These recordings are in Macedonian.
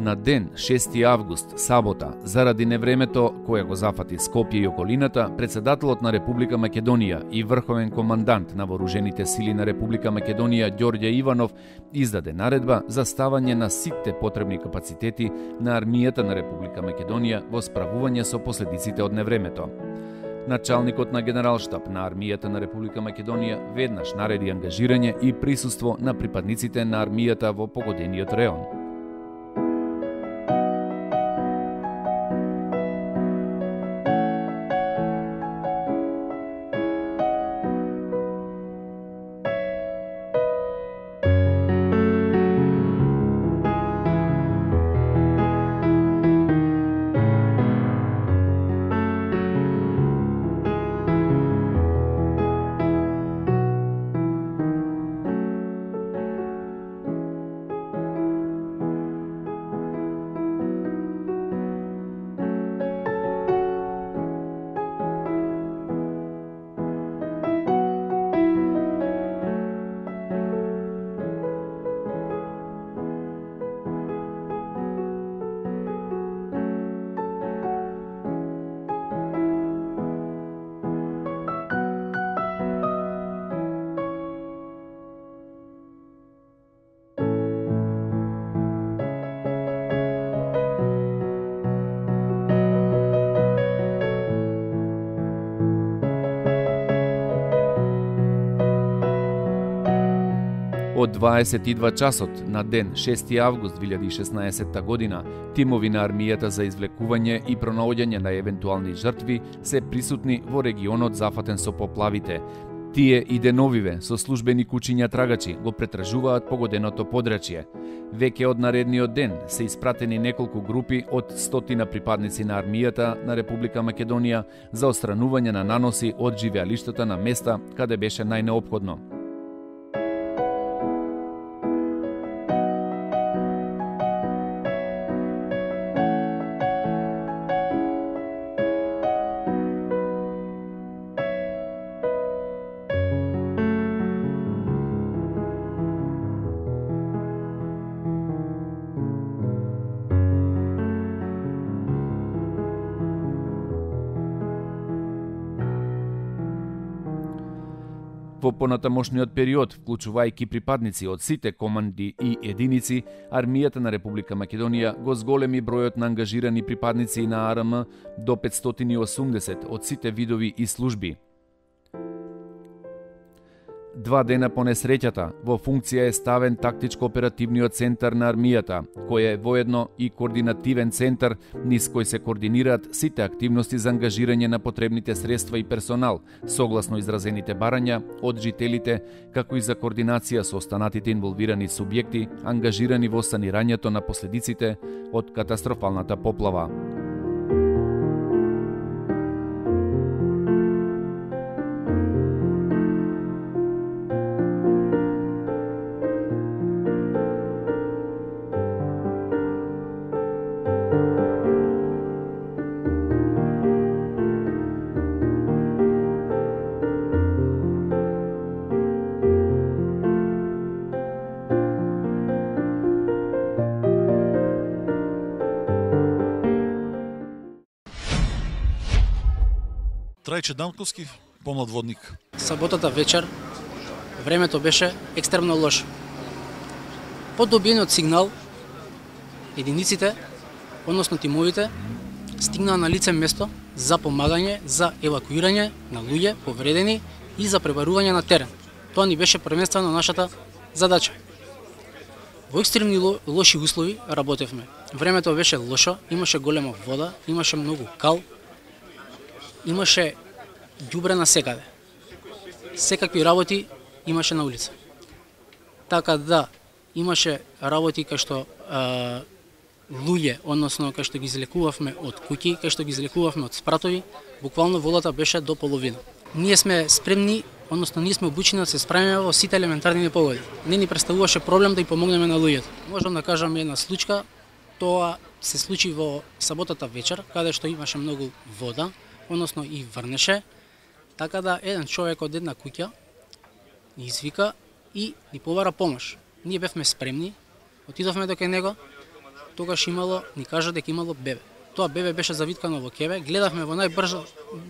На ден 6 август, сабота, заради невремето кое го зафати Скопје и околината, председателот на Република Македонија и врховен командант на вооружените сили на Република Македонија Ѓорѓе Иванов издаде наредба за ставање на сите потребни капацитети на армијата на Република Македонија во справување со последиците од невремето. Началникот на Генералштаб на армијата на Република Македонија веднаш нареди ангажирање и присуство на припадниците на армијата во погодениот реон. Од 22 часот на ден 6 август 2016 година, тимови на армијата за извлекување и пронаоѓање на евентуални жртви се присутни во регионот зафатен со поплавите. Тие и деновиве со службени кучиња трагачи го претражуваат погоденото подрачје. Веќе од наредниот ден се испратени неколку групи од 100 припадници на армијата на Република Македонија за отстранување на наноси од живеалиштата на места каде беше најнеопходно. Во понатамошниот период, вклучувајќи припадници од сите команди и единици, армијата на Република Македонија го зголеми бројот на ангажирани припадници на АРМ до 580 од сите видови и служби. 2 дена по несреќата, во функција е ставен тактичко-оперативниот центар на армијата, кој е воедно и координативен центар низ кој се координираат сите активности за ангажирање на потребните средства и персонал, согласно изразените барања од жителите, како и за координација со останатите инволвирани субјекти, ангажирани во санирањето на последиците од катастрофалната поплава. Трајче Данковски, помлад водник. Саботата вечер времето беше екстремно лошо. По добиениот сигнал, единиците, односно тимовите, стигнаа на лице место за помагање, за евакуирање на луѓе повредени и за пребарување на терен. Тоа ни беше првенствено нашата задача. Во екстремни лоши услови работевме. Времето беше лошо, имаше голема вода, имаше многу кал, имаше ѓубре на секаде. Секакви работи имаше на улица. Така да, имаше работи кај што луѓе, односно кај што ги излекувавме од куќи, кај што ги излекувавме од спратови, буквално водата беше до половина. Ние сме спремни, односно ние сме обучени да се справиме во сите елементарни непогоди. Не ни представуваше проблем да ги помогнеме на луѓето. Можам да кажам една случка, тоа се случи во саботата вечер, каде што имаше многу вода, односно и врнеше, така да еден човек од една куќа ни извика и ни побара помош. Ние бевме спремни, отидовме до кај него тогаш ни кажа дека имало бебе. Тоа бебе беше завиткано во кеве, гледавме во најбрз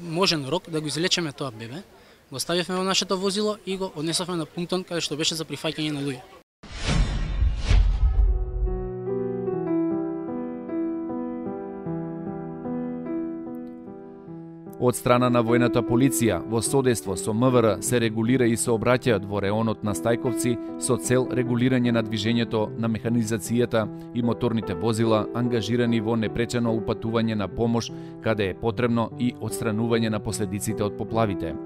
можен рок да го излечеме тоа бебе, го ставивме во нашето возило и го однесовме на пунктон каде што беше за прифаќање на луѓе. Од страна на војната полиција, во содейство со МВР се регулира и сообраќајот во реонот на Стајковци со цел регулирање на движењето на механизацијата и моторните возила ангажирани во непречено упатување на помош каде е потребно и отстранување на последиците од поплавите.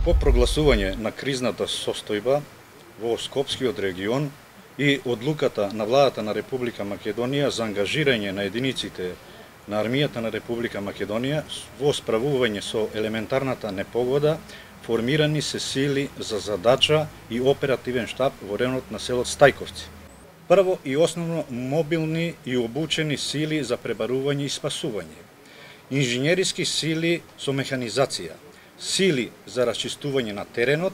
По прогласување на кризната состојба во Скопскиот регион и одлуката на владата на Република Македонија за ангажирање на единиците на армијата на Република Македонија во справување со елементарната непогода, формирани се сили за задача и оперативен штаб во районот на селот Стајковци. Прво и основно мобилни и обучени сили за пребарување и спасување, инженериски сили со механизација, сили за расчистување на теренот,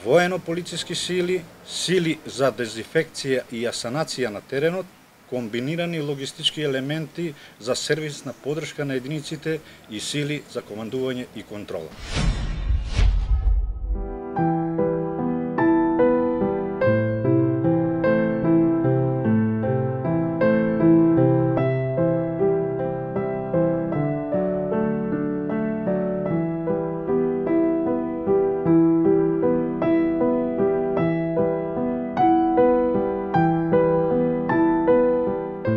воено-полициски сили, сили за дезинфекција и асанација на теренот, комбинирани логистички елементи за сервисна поддршка на единиците и сили за командување и контрола.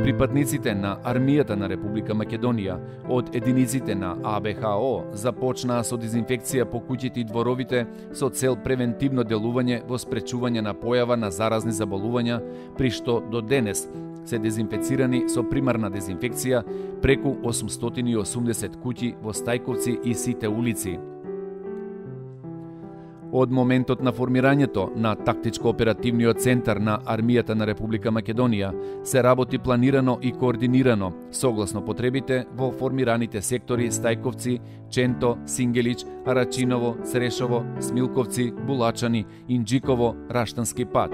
Припадниците на армијата на Република Македонија од единиците на АБХО започнаа со дезинфекција по куќите и дворовите со цел превентивно делување во спречување на појава на заразни заболувања, при што до денес се дезинфецирани со примарна дезинфекција преку 880 куќи во Стајковци и сите улици. Од моментот на формирањето на тактичко-оперативниот центар на армијата на Република Македонија се работи планирано и координирано, согласно потребите во формираните сектори Стајковци, Ченто, Сингелич, Арачиново, Црешово, Смилковци, Булачани, Инџиково, Раштански пат.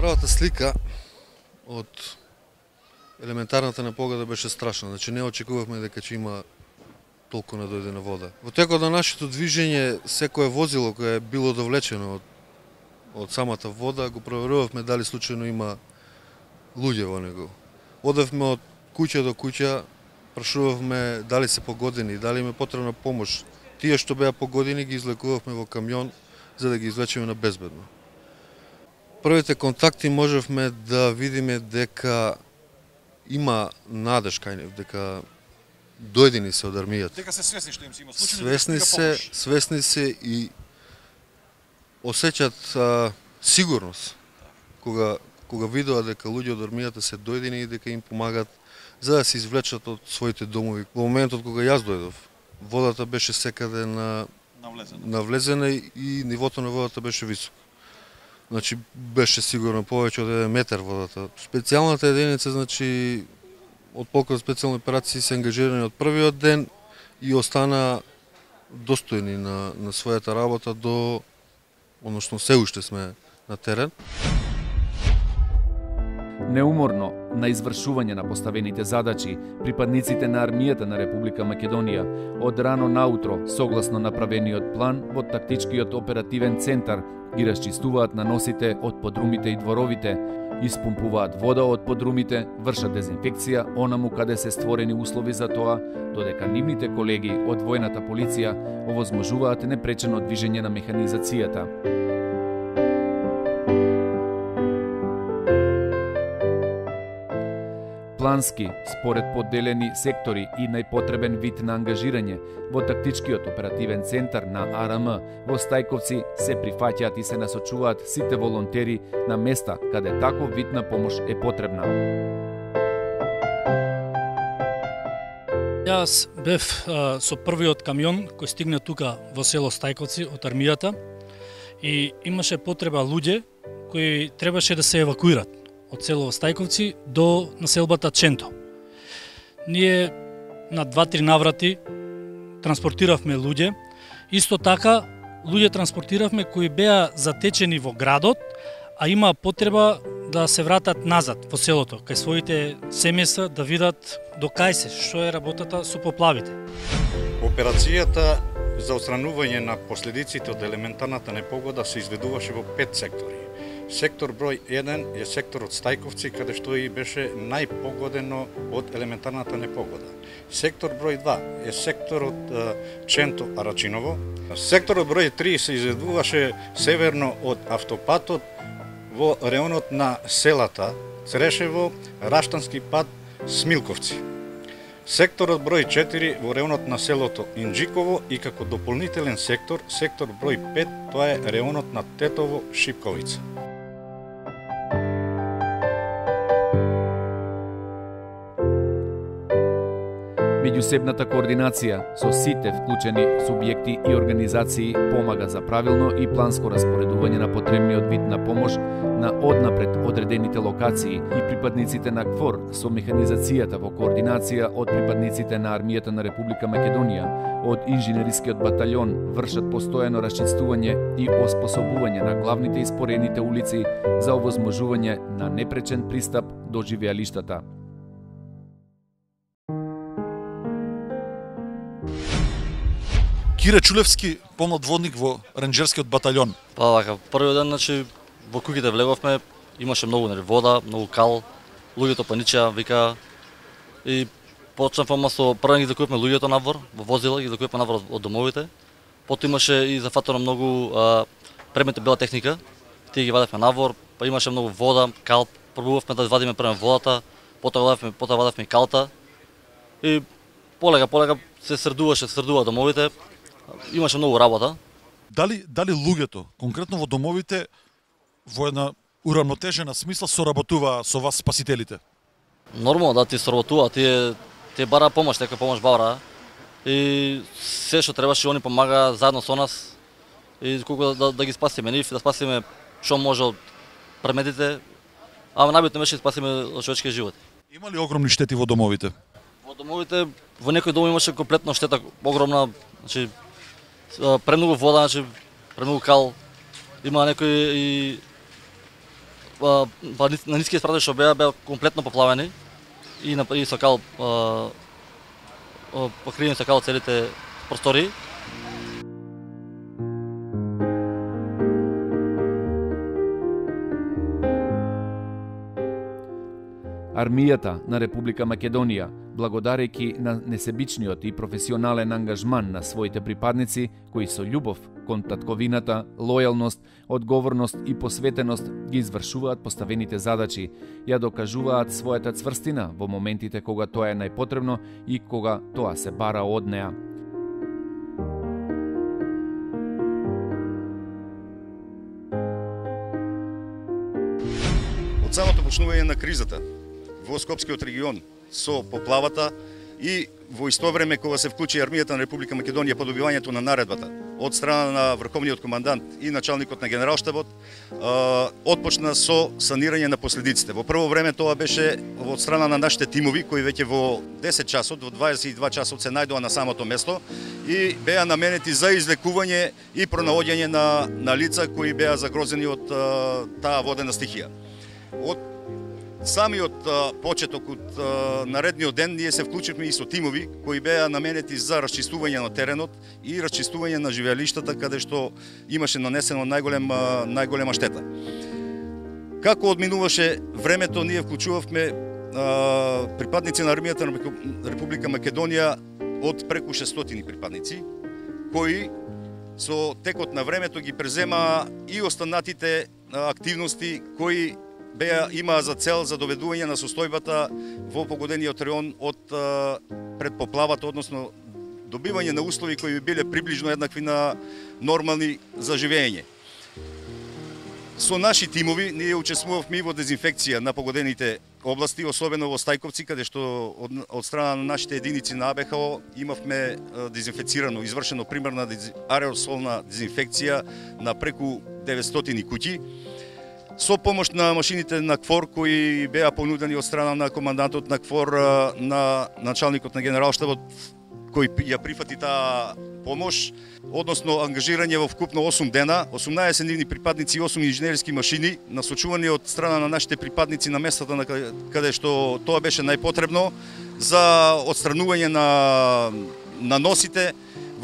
Правата слика од елементарната непогода беше страшна. Значи не очекувавме дека ќе има толку надојдена вода. Во текот на нашето движење, секое возило кое е било довлечено од самата вода, го проверувавме дали случајно има луѓе во него. Одевме од куќа до куќа, прашувавме дали се погодени, дали им е потребна помош. Тие што беа погодени ги излекувавме во камион за да ги извлечеме на безбедно. Првите контакти можевме да видиме дека има надеж кај нив, дека дојдени се од армијата. Дека се свесни што им се има случајно. Свесни се и осеќаат сигурност кога видоа дека луѓе од армијата се дојдени и дека им помагаат за да се извлечат од своите домови. Во моментот кога јас дојдов, водата беше секаде навлезена и нивото на водата беше високо. Значи беше сигурно повеќе од 1 метар водата. Специјалната единица, значи од полкот специјални операции се ангажирани од првиот ден и остана достојни на својата работа до односно се уште сме на терен. Неуморно на извршување на поставените задачи, припадниците на армијата на Република Македонија од рано наутро, согласно направениот план во тактичкиот оперативен центар, ги расчистуваат наносите од подрумите и дворовите, испумпуваат вода од подрумите, вршат дезинфекција онаму каде се створени услови за тоа, додека нивните колеги од војната полиција овозможуваат непречено движење на механизацијата. Плански, според подделени сектори и најпотребен вид на ангажирање, во тактичкиот оперативен центар на АРМ во Стајковци се прифаќаат и се насочуваат сите волонтери на места каде таков вид на помош е потребна. Јас бев со првиот камион кој стигна тука во село Стајковци од армијата и имаше потреба луѓе кои требаше да се евакуират од село Стајковци до населбата Ченто. Ние на 2-3 наврати транспортиравме луѓе, исто така луѓе транспортиравме кои беа затечени во градот, а има потреба да се вратат назад во селото, кај своите семејства да видат до кај се, што е работата со поплавите. Операцијата за отстранување на последиците од елементарната непогода се изведуваше во 5 сектори. Сектор број 1 е секторот Стајковци, каде што и беше најпогодено од елементарната непогода. Сектор број 2 е секторот Ченто Арачиново. Секторот број 3 се изведуваше северно од автопатот во реонот на селата Црешево, Раштански пат, Смилковци. Секторот број 4 во реонот на селото Инџиково и како дополнителен сектор, сектор број 5, тоа е реонот на Тетово, Шипковица. Меѓусебната координација со сите вклучени субјекти и организации помага за правилно и планско распоредување на потребниот вид на помош на однапред одредените локации и припадниците на КФОР со механизацијата во координација од припадниците на армијата на Република Македонија, од инженерискиот батальон вршат постојано расчистување и оспособување на главните и спорените улици за овозможување на непречен пристап до живеалиштата. Кире Чулевски, помлад водник во ренџерскиот батальон. Па така, првиот ден, значи, во куќите влеговме, имаше многу вода, многу кал, луѓето паничеа, вика, и почнавме со прво ги закупивме луѓето навор, во возила, ги закупивме навор од домовите. Потоа имаше и зафатено многу предмети бела техника, тие ги вадевме навор, па имаше многу вода, кал, пробувавме да вадиме прво водата, потоа вадевме и калта. И полека се средува домовите. Имаше многу работа. Дали луѓето, конкретно во домовите, во една урамнотежена смисла соработува со вас спасителите? Нормално да ти соработува, тие бара помош, тека помош бара. И се што требаше они помага заедно со нас и колку да ги спасиме нив, да спасиме што може од предметите, а најбитно беше да спасиме човечки животи. Има ли огромни штети во домовите? Во домовите, во некој дом имаше комплетно штета огромна, значи премногу вода, значи премногу кал. Има некои и на ниските спрати што беа комплетно поплавени и со кал покриени со кал целите простори. Армијата на Република Македонија, благодарејќи на несебичниот и професионален ангажман на своите припадници, кои со љубов кон татковината, лојалност, одговорност и посветеност ги извршуваат поставените задачи, ја докажуваат својата цврстина во моментите кога тоа е најпотребно и кога тоа се бара од неа. Од самото почнување на кризата во Скопскиот регион со поплавата и во исто време кога се вклучи армијата на Република Македонија по добивањето на наредбата од страна на врховниот командант и началникот на генералштабот, отпочна со санирање на последиците. Во прво време тоа беше од страна на нашите тимови кои веќе во 10 часот, во 22 часот се најдоа на самото место и беа наменети за излекување и пронаоѓање на лица кои беа загрозени од таа водена стихија. Од самиот почеток од наредниот ден ние се вклучивме и со тимови кои беа наменети за расчистување на теренот и расчистување на живеалиштата каде што имаше нанесено најголема штета. Како одминуваше времето, ние вклучувавме припадници на армијата на Република Македонија од преку 600 припадници, кои со текот на времето ги презема и останатите активности кои имаа за цел за доведување на состојбата во погодениот район од пред поплавата, односно добивање на услови кои биле приближно еднакви на нормални за живење. Со наши тимови ние учествувавме во дезинфекција на погодените области, особено во Стајковци, каде што од страна на нашите единици на АБХО имавме дезинфецирано, извршено примерна аеросолна дезинфекција на преку 900 куќи, со помош на машините на КФОР кои беа понудени од страна на командантот на КФОР, на началникот на генералштабот, кој ја прифати таа помош, односно ангажирање во вкупно 8 дена, 18 нивни припадници и 8 инженерски машини, насочувани од страна на нашите припадници на местата на каде што тоа беше најпотребно за отстранување на носите.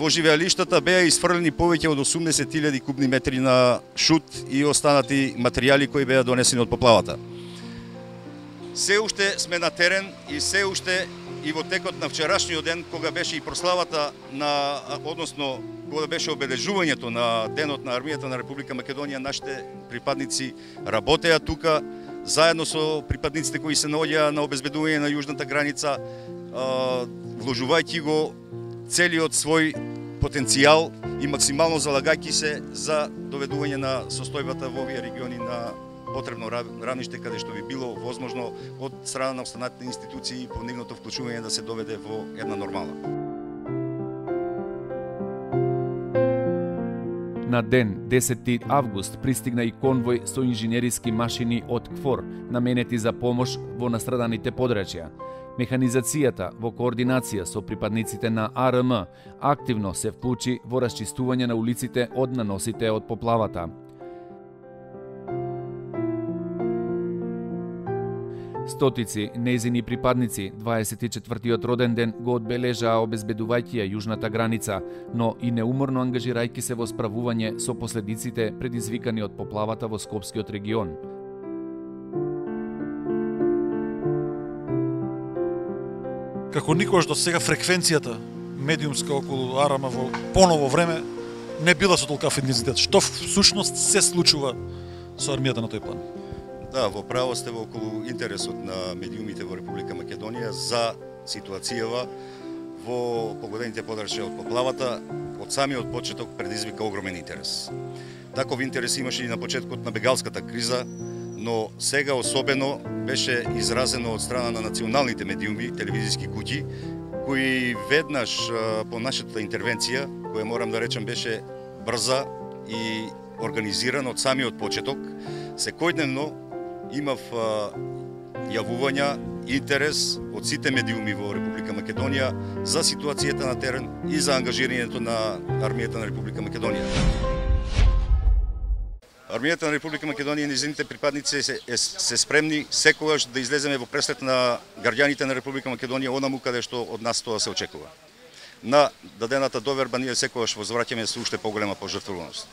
Во живеалиштата беа изфрлени повеќе од 80.000 кубни метри на шут и останати материјали кои беа донесени од поплавата. Се уште сме на терен и се уште и во текот на вчерашниот ден, кога беше и прославата односно кога беше обележувањето на денот на армијата на Република Македонија, нашите припадници работеа тука заедно со припадниците кои се наоѓаа на обезбедување на јужната граница, вложувајќи го целиот свој потенцијал и максимално залагајќи се за доведување на состојбата во овие региони на потребно равниште, каде што би било возможно од страна на останатите институции по нивното вклучување да се доведе во една нормала. На ден 10 август пристигна и конвој со инженериски машини од КФОР, наменети за помош во настраданите подрачја. Механизацијата во координација со припадниците на АРМ активно се вклучи во расчистување на улиците од наносите од поплавата. Стотици нејзини припадници 24-тиот роден ден го одбележаа обезбедувајќи ја јужната граница, но и неуморно ангажирајќи се во справување со последиците предизвикани од поплавата во Скопскиот регион. Како никогаш до сега фреквенцијата медиумска околу АРМ во поново време не била со толкав интензитет. Што всушност се случува со армијата на тој план? Да, во право сте во околу интересот на медиумите во Република Македонија за ситуацијава во погодените подрачја од поплавата. Од самиот почеток предизвика огромен интерес. Таков интерес имаше и на почеткот на бегалската криза, но сега особено беше изразено од страна на националните медиуми, телевизиски куќи, кои веднаш по нашата интервенција, која морам да речам беше брза и организирана од самиот почеток, секојдневно имав јавувања, интерес од сите медиуми во Република Македонија за ситуацијата на терен и за ангажирањето на армијата на Република Македонија. Армијата на Република Македонија и низините припадници се спремни секогаш да излеземе во пресрет на граѓаните на Република Македонија онаму каде што од нас тоа се очекува. На дадената доверба ние секогаш возвраќаме со уште поголема пожртвуваност.